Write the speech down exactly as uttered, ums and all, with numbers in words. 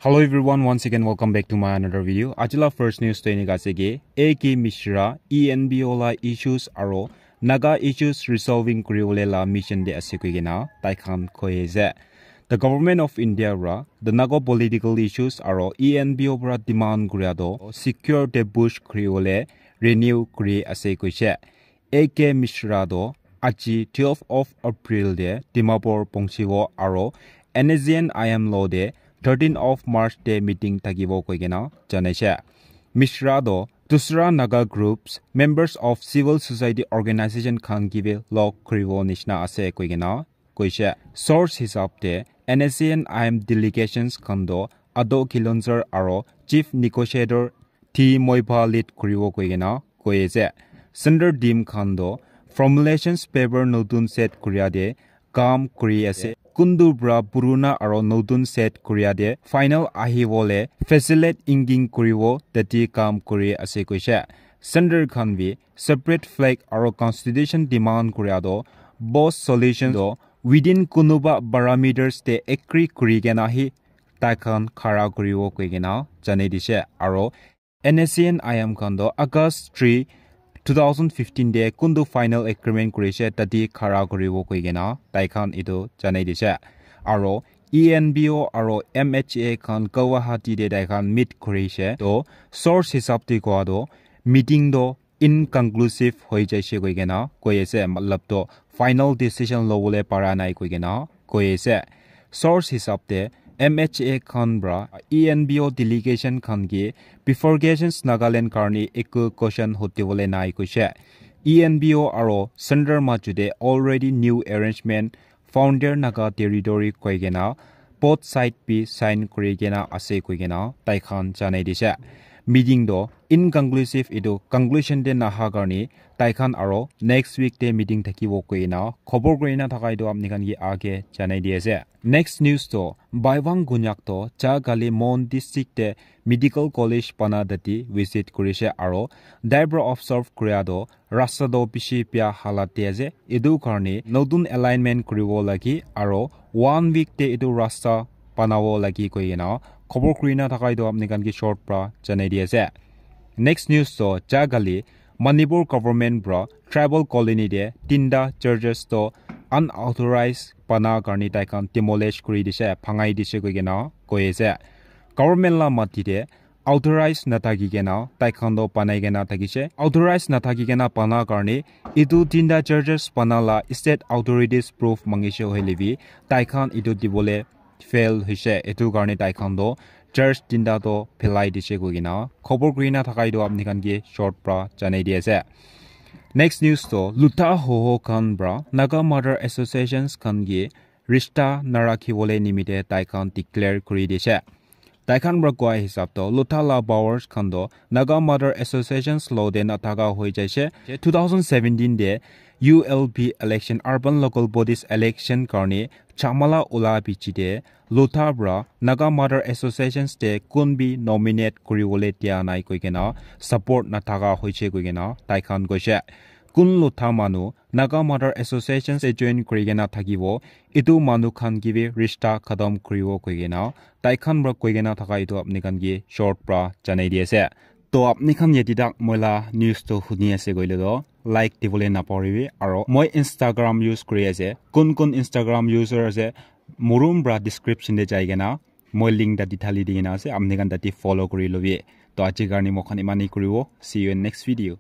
Hello everyone, once again welcome back to my another video. Ajila first news to enika ase ki A K Mishra E N B O la issues aro Naga issues resolving kuriwole la mission de ase koi kena tai khan koi ase. The government of India ra the Naga political issues aro E N B O pra demand kuria do secure de bush kuriwole renew kuri ase koise. A K Mishra do aji twelve of April de Dimapur pongchibo aro N S C N I M lo de thirteen of March de meeting thakibo koi kena janaise. Mishra do dusra Naga groups, members of civil society organization khan kibi log kuribo nishina ase koi kena koise. Source hisab te N S C N I M delegations khan do Ado Kilonzar aro chief negotiator T Moipa lead kuribo koi kena koi ase. Center team khan do formulations paper notun set kuria de kam kuri ase. Kundu pra puruna aro notun set kuria de final ahibole facilitate inging kuribo tati kam kuri ase koise. Center khan bi separate flag aro constitution demand kuria do boss solution do within kunuba parameters te agree kuri kena hi tai khan khara kuribo koi kena janai dise. Aro N S C N I M khan do August three, two thousand fifteen de kundu final agreement kurise tati khara kuribo koi kena tai khan etu janai dise. Aro E N B O aro M H A khan Guwahati de tai khan meet kurise. To source hisab te koa do meeting do inconclusive hoi jaise koi kena koi ase, matlab to final decision lobole para nai koi kena koi ase. Source hisab te M H A khan pra E N B O delegation khan ki bifurcations Nagaland karni eku question hotibole nai koise. E N B O aro center majude already new arrangement founder Naga territory koi kena both side bi sign kuri kena ase koi kena tai khan janai dise. Meeting do inconclusive, etu conclusion de naha karni tai khan aro next week de meeting thakibo koi kena khobor kuri na thaka etu apni khan ki age janai di ase. Next news to Baiwang Gunyak to Chagali Mon district de medical college bana dati visit kurise aro dai pra observe kuria do rasta do bishi bia halat de ase. Etu karni notun alignment kuribo lagi aro one week de etu rasta banabo lagi koi kena khobor kuri na thaka etu apni khan ki short pra janai di ase. Next news to Chagali Manipur government pra tribal colony de tinta churches to unauthorized bana karni tai khan demolish kuri dise, bhangai dise koi kena koi ase. Government la mati de authorized nathaki kena tai khan to banai kena thakise. Authorized nathaki kena bana karni etu tinta churches bana la state authorities proof mangise hoile bi tai khan etu dibole fail hoise. Etu karni tai khan to church tinta to phelai dise koi kena khobor kuri na thaka etu apni khan ki short pra janai di ase. Next news to Lutha Hoho khan pra Naga Mother Associations khan ki rista narakhibole nimite tai khan declare kuri dise. Tai khan pra koa hisab to Lutha la powers khan to Naga Mother Associations lo de nathaka hoi jaise. Two thousand seventeen de U L B election, urban local bodies election karni chamala ula bichi de Lutha pra Naga Mother Associations de kun bi nominate kuriwole dia nai koi kena support nathaka hoise koi kena tai khan koise. Kun Lutha manu Naga Mother Associations de join kuri kena thakibo, etu manu khan ki bi rista khatam kuribo koi kena tai khan pra koi kena thaka etu apni khan ki short pra janai di ase. To apni khan yate tak moi la news to huni ase koile to like dibole napahoribi. Aro moi Instagram use kuri ase, kun kun Instagram user ase, morom pra description de jai kena moi link ta dithali di kena ase, apni khan tate follow kuri lobi. To aji karni moi khan imani kuribo. See you in next video.